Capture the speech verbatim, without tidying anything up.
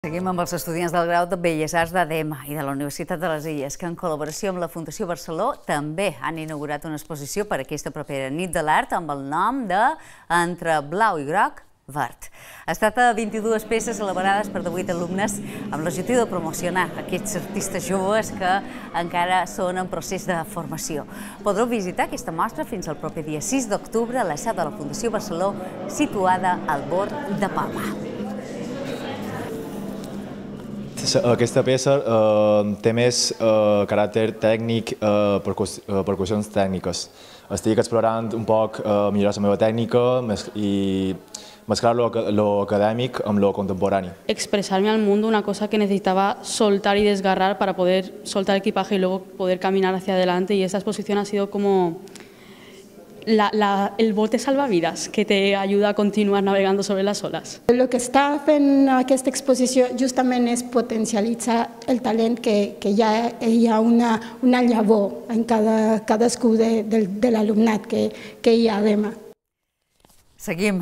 Seguim amb els estudiants del grau de Belles Arts d'ADEMA i de la Universitat de les Illes, que en col·laboració amb la Fundació Barceló també han inaugurat una exposició per aquesta propera nit de l'art amb el nom de Entre blau i groc, verd. Es tracta de vint-i-dues peces elaborades per divuit alumnes amb l'objectiu de promocionar aquests artistes joves que encara són en procés de formació. Podreu visitar aquesta mostra fins al proper dia sis d'octubre a la seu de la Fundació Barceló, situada al bord de Palma. Aquesta peça eh, té més eh, caràcter tècnic, eh, percus eh, percussions tècniques. Estic explorant un poc eh, millorar la meva tècnica i mezclar lo, lo acadèmic amb lo contemporani. Expresarme al mundo una cosa que necesitaba soltar y desgarrar para poder soltar el equipaje y luego poder caminar hacia adelante, y esta exposición ha sido como La, la, el bote salvavidas que te ayuda a continuar navegando sobre las olas. El que està fent aquesta exposició justament és potencialitzar el talent que, que ja hi ha una, una llavor en cada, cadascú de, de, de l'alumnat que, que hi ha a ADEMA. Seguim.